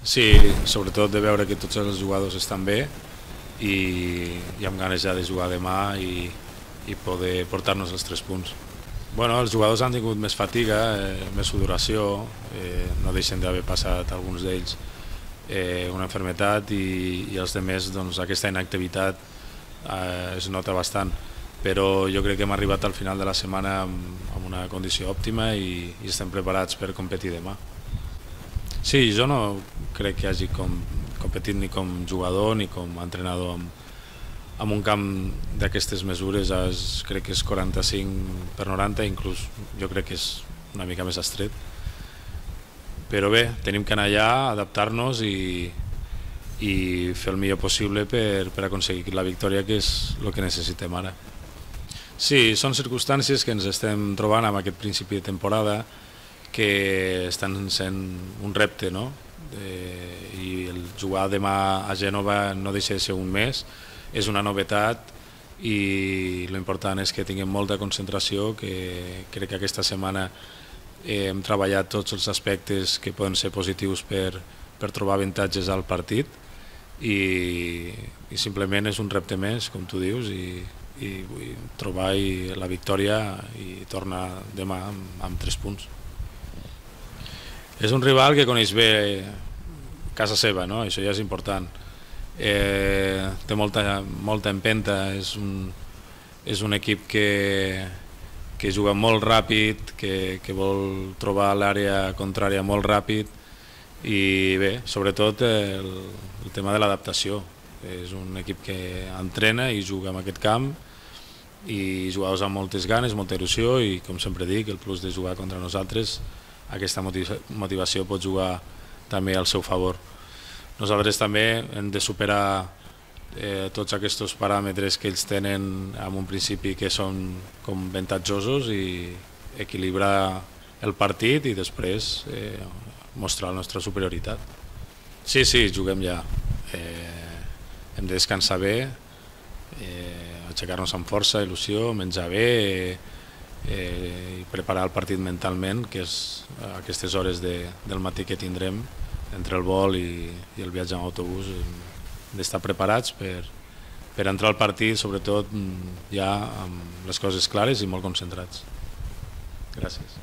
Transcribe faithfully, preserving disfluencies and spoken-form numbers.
Sí, sobretot de veure que tots els jugadors estan bé i, i amb ganes ja de jugar demà i, i poder portar-nos els tres punts. Bueno, els jugadors han tingut més fatiga, eh, més sudoració, eh, no deixen d'haver passat alguns d'ells eh, una malaltia i, i els altres doncs, aquesta inactivitat eh, es nota bastant, però jo crec que hem arribat al final de la setmana amb, amb una condició òptima i, i estem preparats per competir demà. Sí, jo no crec que hagi com, competit ni com jugador ni com entrenador amb, amb un camp d'aquestes mesures. Es, crec que és quaranta-cinc per noranta, inclús jo crec que és una mica més estret. Però bé, tenim que anar allà, adaptar-nos i, i fer el millor possible per, per aconseguir la victòria, que és el que necessitem ara. Sí, són circumstàncies que ens estem trobant amb aquest principi de temporada, que estan sent un repte, no? Eh, i el jugar demà a Gènova no deixa de ser un mes, és una novetat i l'important és que tinguem molta concentració, que crec que aquesta setmana eh, hem treballat tots els aspectes que poden ser positius per, per trobar avantatges al partit i, i simplement és un repte més, com tu dius, i, i vull trobar i la victòria i tornar demà amb, amb tres punts. És un rival que coneix bé casa seva, no? Això ja és important. Eh, té molta, molta empenta, és un, és un equip que, que juga molt ràpid, que, que vol trobar l'àrea contrària molt ràpid i bé, sobretot el, el tema de l'adaptació. És un equip que entrena i juga en aquest camp i jugadors amb moltes ganes, molta il·lusió i, com sempre dic, el plus de jugar contra nosaltres, aquesta motivació pot jugar també al seu favor. Nosaltres també hem de superar eh, tots aquests paràmetres que ells tenen en un principi que són com avantatjosos i equilibrar el partit i després eh, mostrar la nostra superioritat. Sí, sí, juguem ja. Eh, hem de descansar bé, eh, aixecar-nos amb força, il·lusió, menjar bé, eh, Eh, i preparar el partit mentalment, que és aquestes hores de, del matí que tindrem entre el vol i, i el viatge en autobús, d'estar preparats per, per entrar al partit, sobretot ja amb les coses clares i molt concentrats. Gràcies.